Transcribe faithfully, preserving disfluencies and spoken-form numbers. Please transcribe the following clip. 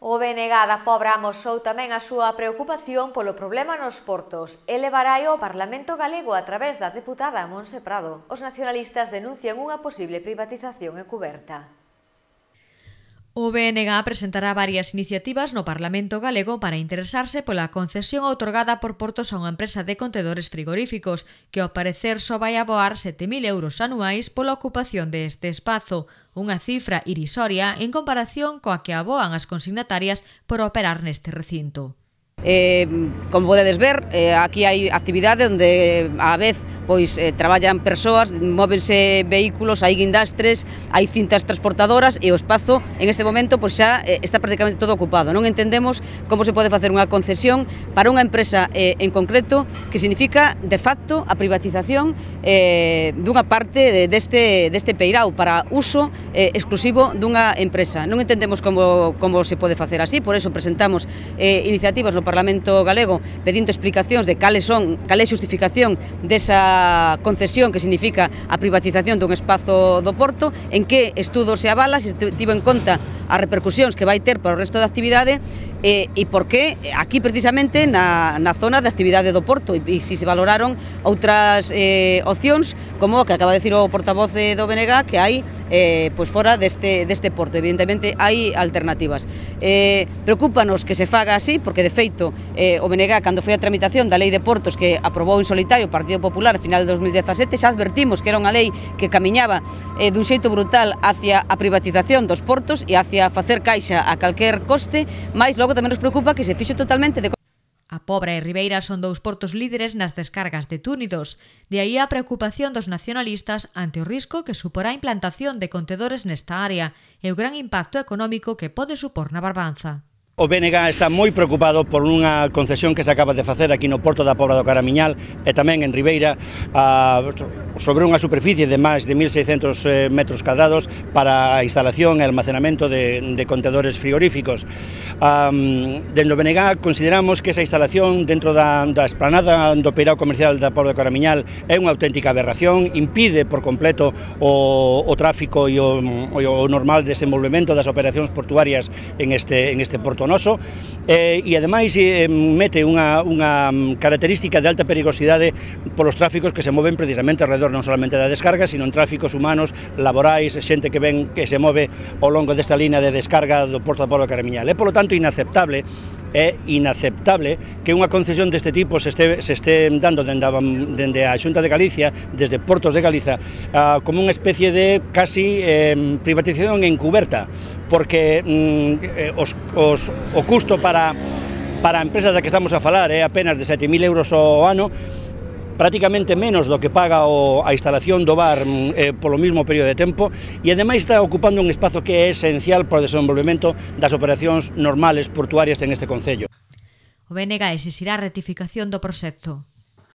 O B N G da Pobra amosou tamén a súa preocupación polo problema nos portos e levará ao Parlamento galego a través da deputada Montse Prado. Os nacionalistas denuncian unha posible privatización encuberta. O B N G presentará varias iniciativas no Parlamento galego para interesarse pola concesión outorgada por Portos a unha empresa de contedores frigoríficos, que ao parecer só vai aboar sete mil euros anuais pola ocupación deste espazo, unha cifra irrisoria en comparación coa que aboan as consignatarias por operar neste recinto. Eh, como podedes ver, eh, aquí hai actividade onde á vez pois eh, traballan persoas, móvense vehículos, hai guindastres, hai cintas transportadoras e o espazo en este momento pois xa eh, está prácticamente todo ocupado. Non entendemos como se pode facer unha concesión para unha empresa eh, en concreto que significa de facto a privatización eh, dunha parte de, deste, deste peirao para uso eh, exclusivo dunha empresa. Non entendemos como, como se pode facer así, por eso presentamos eh, iniciativas no Parlamento galego pedindo explicacións de cales son, cal é a xustificación desa concesión que significa a privatización dun espazo do porto, en que estudo se avala, se tivo en conta as repercusións que vai ter para o resto da actividade e, e por que aquí precisamente na, na zona de actividade do porto e, e se se valoraron outras eh, opcións como o que acaba de decir o portavoz do B N G que hai eh, pois fora deste, deste porto. Evidentemente hai alternativas. Eh, preocúpanos que se faga así porque de feito Eh, o B N G, cando foi a tramitación da Lei de Portos que aprobou en solitario o Partido Popular a final de dos mil dezasete, xa advertimos que era unha lei que camiñaba eh, dun xeito brutal hacia a privatización dos portos e hacia facer caixa a calquer coste, mas logo tamén nos preocupa que se fixo totalmente de... A Pobra e Ribeira son dous portos líderes nas descargas de túnidos, de aí a preocupación dos nacionalistas ante o risco que suporá a implantación de contedores nesta área e o gran impacto económico que pode supor na Barbanza. O B N G está moi preocupado por unha concesión que se acaba de facer aquí no Porto da Pobra do Caramiñal e tamén en Ribeira a, sobre unha superficie de máis de mil seiscentos metros cadrados para a instalación e almacenamento de, de contedores frigoríficos. Um, dentro do B N G consideramos que esa instalación dentro da, da esplanada do peirao comercial da Pobra do Caramiñal é unha auténtica aberración, impide por completo o, o tráfico e o, o normal desenvolvemento das operacións portuarias en este, en este porto noso eh, e ademais eh, mete unha, unha característica de alta perigosidade polos tráficos que se moven precisamente alrededor non solamente da descarga, sino en tráficos humanos, laborais, xente que ven que se move ao longo desta línea de descarga do Porto da Pobra do Caramiñal. É, polo tanto, inaceptable é inaceptable que unha concesión deste tipo se este, se este dando dende a, dende a Xunta de Galicia, desde Portos de Galiza, uh, como unha especie de casi eh, privatización encuberta, porque mm, os, os, o custo para, para a empresa da que estamos a falar é apenas de sete mil euros ao ano, prácticamente menos do que paga o, a instalación do bar eh, polo mesmo período de tempo e ademais está ocupando un espazo que é esencial para o desenvolvemento das operacións normales portuarias en este concello. O B N G exixirá rectificación do proxecto.